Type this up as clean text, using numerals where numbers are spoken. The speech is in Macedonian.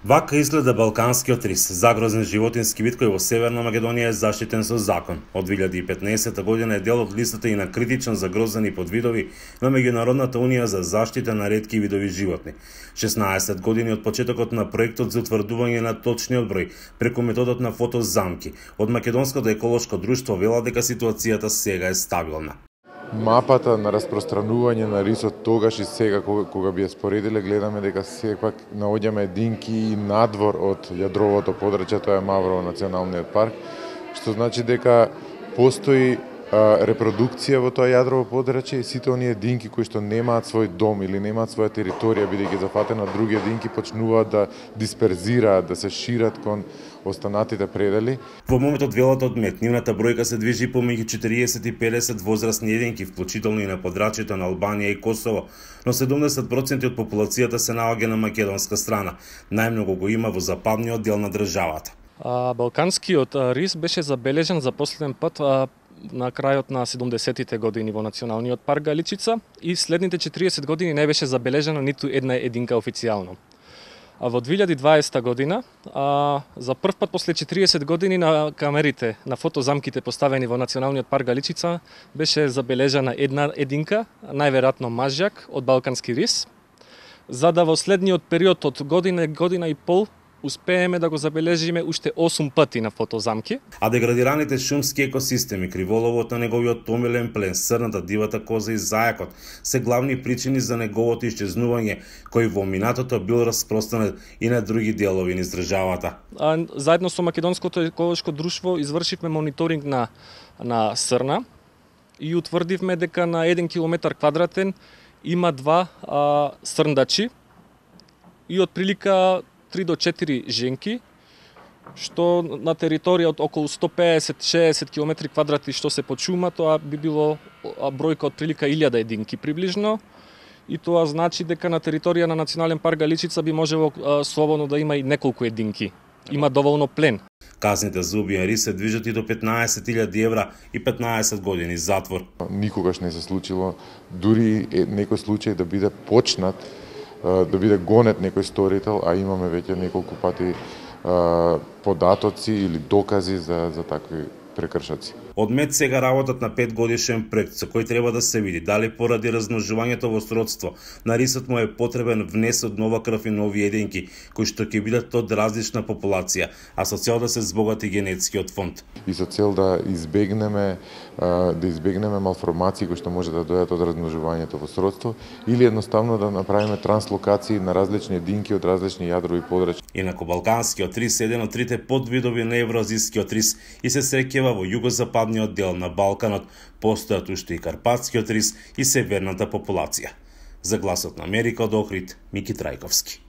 Вака изгледа балканскиот рис, загрозен животински вид кој во Северна Македонија е заштитен со закон. Од 2015 година е дел од листата и на критично загрозени подвидови на Меѓународната унија за заштита на ретки видови животни. 16 години од почетокот на проектот за утврдување на точниот број преку методот на фотозамки, од Македонското еколошко друштво велат дека ситуацијата сега е стабилна. Мапата на распространување на рисот тогаш и сега кога би ја споредиле, гледаме дека сепак наоѓаме единки и надвор од јадровото подрачје, тоа е Маврово националниот парк, што значи дека постои репродукција во тоа јадрово подрачје и сите оние единки кои што немаат свој дом или немаат своја територија, бидејќи зафатени од други единки, почнуваат да дисперзираат, да се шират кон останатите предели. Во моментот велат одмет, нивната бројка се движи помеѓу 40 и 50 возрастни единки, вклучително и на подрачјето на Албанија и Косово, но 70% од популацијата се наоѓа на македонска страна. Најмногу го има во западниот дел на државата. Балканскиот рис беше забележан за последен пат на крајот на 70-тите години во Националниот парк Галичица и следните 40 години не беше забележана ниту една единка официјално. А во 2020 година, за прв пат после 40 години на камерите, на фотозамките поставени во Националниот парк Галичица, беше забележана една единка, најверојатно мажјак од балкански рис, за да во следниот период од година и пол успееме да го забележиме уште 8 пати на фотозамки. А деградираните шумски екосистеми, криволовот на неговиот томилен плен, срната, дивата коза и зајакот се главни причини за неговото исчезнување, кој во минатото бил распространет и на други делови низ државата. Заедно со Македонското еколошко друштво извршивме мониторинг на срна и утврдивме дека на 1 километар квадратен има два срндачи и отприлика 3 до 4 женки, што на територија од околу 150-60 км квадрати што се под шума, тоа би било бројка од прилика 1000 единки приближно, и тоа значи дека на територија на Национален парк Галичица би можело слободно да има и неколку единки. Има доволно плен. Казните за убиен рис се движат и до 15.000 евра и 15 години затвор. Никогаш не се случило, дури некој случај да биде почнат, да биде гонет некој сторител, а имаме веќе неколку пати податоци или докази за такви прекршаци. Одмет сега работат на 5-годишен проект со кој треба да се види дали поради размножувањето во сродство на рисот му е потребен внес од нова крв и нови единки, кои што ќе бидат од различна популација, а со цел да се збогати генетскиот фонд. И со цел да избегнеме малформации кои што може да дојдат од размножувањето во сродство или едноставно да направиме транслокации на различни единки од различни јадрови подрачја. Инаку балканскиот рис е еден од трите подвидови на евроазискиот рис и се среќава во југозападниот дел на Балканот, постојат уште и карпатскиот рис и северната популација. За Гласот на Америка од Охрид, Мики Трајковски.